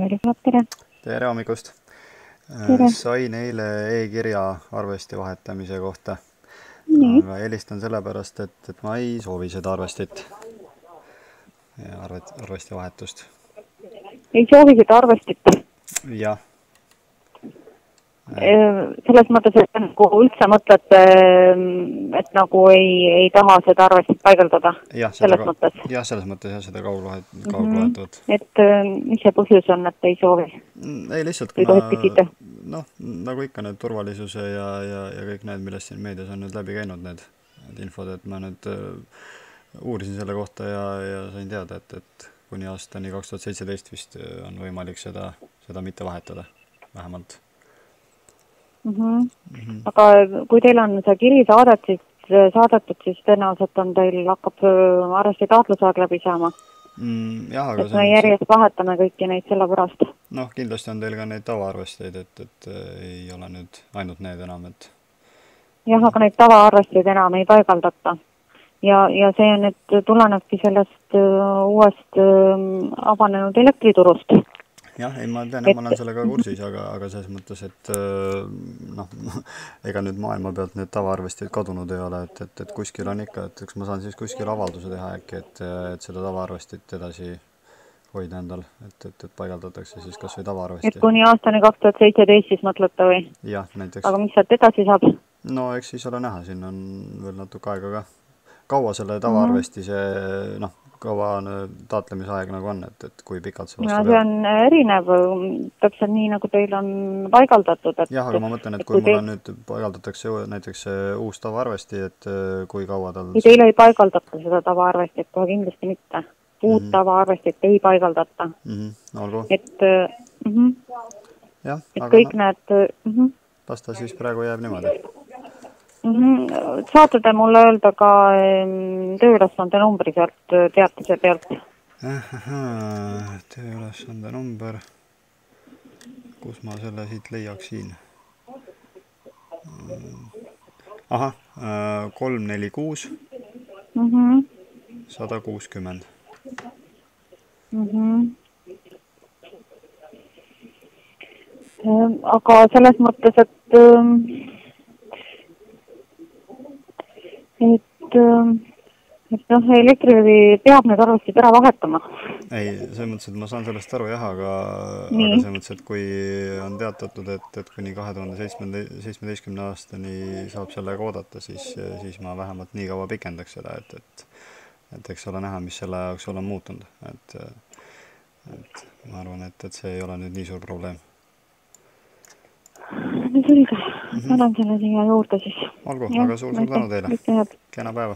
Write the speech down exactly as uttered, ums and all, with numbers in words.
tere. Tere hommikust. Tere. Sain eile e-kirja arvesti vahetamise kohta. Nii. Aga helistan sellepärast, et, et ma ei soovi seda arvestit ja arvet, arvesti vahetust. Ei soovi seda arvestit? Jah. Selles mõttes, et nagu üldse mõtled, et nagu ei, ei taha seda arvestit paigaldada? Jah, selles ka, mõttes? Jah, selles mõttes jah, seda kauglohet, kauglohetavad. Mm -hmm. Et mis see põhjus on, et ei soovi? Ei lihtsalt, kuna noh, nagu ikka need turvalisuse ja, ja, ja kõik need, millest siin meedias on nüüd läbi käinud need, need infod, et ma nüüd uh, uurisin selle kohta ja, ja sain teada, et, et kuni aastani kaks tuhat seitseteist vist on võimalik seda, seda mitte vahetada, vähemalt. Mm -hmm. Mm -hmm. Aga kui teil on see kiri saadet, siis, saadetud, siis tõenäoliselt on teil hakkab arvesti taotlusaeg läbi saama. Mm, jah, aga et me järjest see... vahetame kõiki neid selle pärast. Noh, kindlasti on teil ka neid tavaarvesteid, et, et ei ole nüüd ainult need enam, et... Jah, aga neid tavaarvesteid enam ei paigaldata. Ja, ja see nüüd tulenebki sellest uh, uuest uh, avanenud elektriturust. Jah, ei, ma tean, et ma olen sellega kursis, aga, aga selles mõttes, et noh, ega nüüd maailma pealt need tavaarvestid kadunud ei ole, et, et, et kuskil on ikka, et eks ma saan siis kuskil avalduse teha äkki, et, et seda tavaarvestit edasi hoida endal, et, et, et paigaldatakse siis kas või tavaarvesti. Et kuni aastani kaks tuhat seitseteist siis mõtlete või? Jah, näiteks. Aga mis sealt edasi saab? No eks siis ole näha, siin on veel natuke aega ka. Kaua selle tavaarvesti see, noh, kaua taatlemise aeg nagu on, et, et kui pikalt see vastu no, see on erinev, täpselt nii, nagu teil on paigaldatud. Et, jah, aga ma mõtlen, et kui, kui mul on nüüd paigaldatakse näiteks uus tavaarvesti, et kui kaua tal... Ei, teile ei paigaldata seda tavaarvestit, kohe kindlasti mitte. Uut mm -hmm. tavaarvestit ei paigaldata. Mm -hmm. Olgu. Et, mm -hmm. jah, et aga kõik no, need... Mm -hmm. las ta siis praegu jääb niimoodi. Mm -hmm. Saate te mulle öelda ka tööülesande numbri sealt teatise pealt? Ahah, tööülesande number. Kus ma selle siit leiaksin? Ahah, kolm neli kuus sada kuuskümmend. Aga selles mõttes, et et, et noh, elektrilevi peab need arvestid ära vahetama. Ei, selles mõttes, et ma saan sellest aru jah, aga, aga selles mõttes, et kui on teatatud, et, et kuni kahe tuhande seitsmeteistkümne aastani saab sellega oodata, siis, siis ma vähemalt nii kaua pikendaks seda, et, et, et eks ole näha, mis selle jaoks on muutunud. Et, et ma arvan, et, et see ei ole nüüd nii suur probleem. No selge, ma olen selle siia juurde siis. Olgu, aga suur-suur tänu teile. Kena päeva.